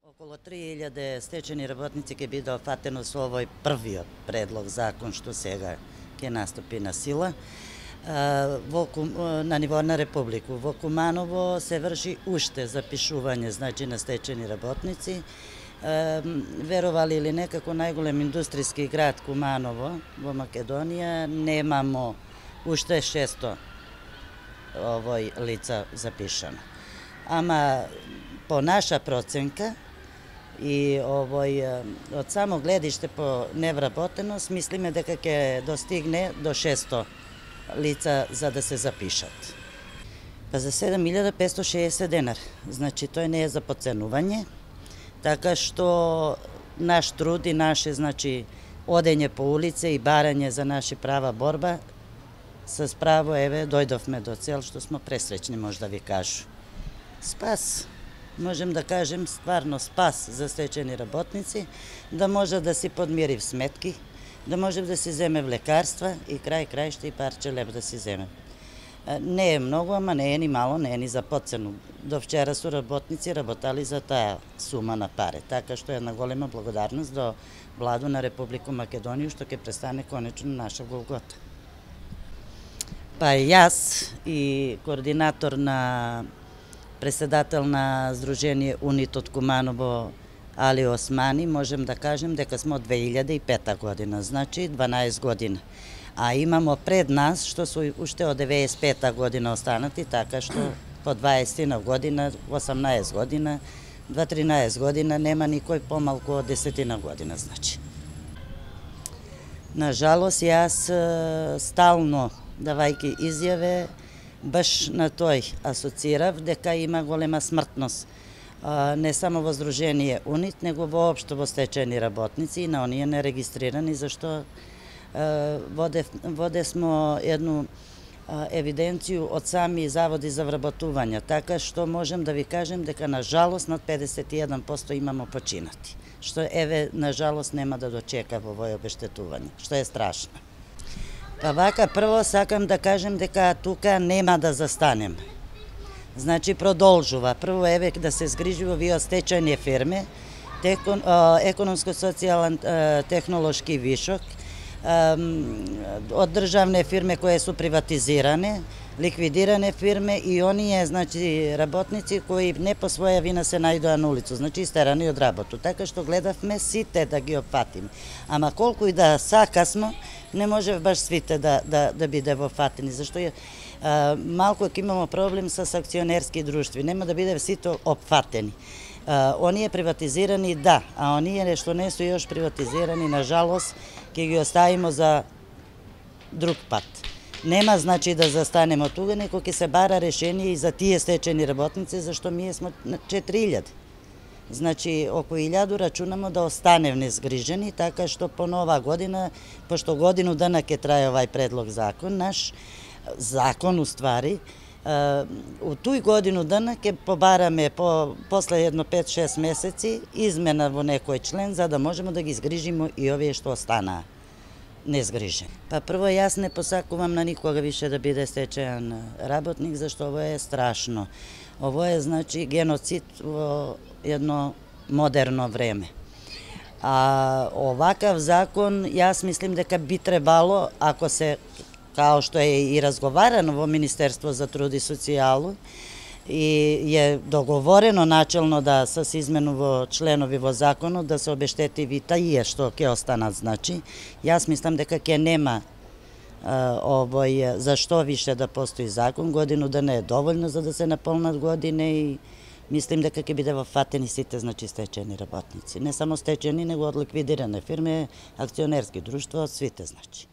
Околу 3000 стечени работници ќе биде офатено со овој првиот предлог закон што сега ќе наступи на сила. На ниво на Републику. Во Куманово се врши уште запишување, значи, на стечени работници. Веровали или не, како најголем индустријски град Куманово во Македонија, немамо уште 600 лица запишано. Ама по наша проценка и од само гледиште по невработеност, мислиме дека ќе достигне до 600 лица за да се запишат. Па за 7560 денар. Значи, тој не е за подценување, така што наш труд и наше, значи, одење по улице и барање за наши права борба, с право, еве, дојдовме до цел, што сме пресреќни, може да ви кажу. Спас, можем да кажем, стварно спас за стечени работници, да може да си подмири сметки, да може да си земе в лекарства и крај-крајште и парче леб да си земе. Не е многу, ама не е ни мало, не е ни за подцену. До вчера су работници работали за таа сума на пари, така што е една голема благодарност до Владу на Република Македонија, што ќе престане конечно наша голгота. Па јас и координатор на председател на Сдружение УНИТ од Куманово Али Османи, можем да кажем дека сме од 2005 година, значи 12 година. А имамо пред нас, што су уште од 95 година останати, така што по 20 година, 18 година, 13 година, нема никој помалку од 10 година, значи. Нажалост, јас стално, давајќи изјаве, баш на тој асоцирав дека има голема смртност. Не само во Сдружение УНИТ, него воопшто во стечени работници и на оние нерегистрирани, зашто воде смо едну евиденцију од сами заводи за вработување, така што можем да ви кажем дека на жалост над 51% имамо починати, што еве на жалост нема да дочека во овој обештетување, што е страшно. Па вака, прво сакам да кажем дека тука нема да застанем. Значи, продолжува. Прво, еве, да се згрижи во вие стечајни фирми, економско-социјален технолошки вишок, од државни фирми кои су приватизирани, ликвидирани фирми и оние, значи, работници кои не по своја вина се најдоа на улицу, значи истерани од работу. Така што гледавме сите да ги опфатиме. Ама колку и да сакасмо, не може баш свите да биде вофатени, зашто малку ќе имамо проблем со акционерски друштви, нема да биде сите опфатени. Оние приватизирани, да, а оние што не су још приватизирани, на жалост, ќе ги оставимо за друг пат. Нема, значи, да застанемо тука, неко ќе се бара решение и за тие стечени работници, зашто ние сме на 4000. Значи, околу 1000 рачунамо да останем незгрижени, така што по нова година, пошто годину дана ќе трае овај предлог закон, наш закон, уствари, у тој годину дана ќе побараме после едно 5-6 месеци измена во некој член, за да можеме да ги згрижимо и овие што останаа незгрижени. Па прво, јас не посакувам на никога више да биде стечаен работник, зашто ово е страшно. Ово е, значи, геноцид во едно модерно време. А овакав закон, јас мислим дека би требало, ако се, као што е и разговарано во Министерство за труд и социјалу, и е договорено начелно да се измену во членови во законот да се обештети ви тие што ќе останат, значи. Јас мислам дека ќе нема зашто више да постои закон, годину да не е доволно за да се наполнат години и мислим дека ќе биде вофатени сите, значи, стечени работници. Не само стечени, него од ликвидирани фирми, акционерски друштва, од свите, значи.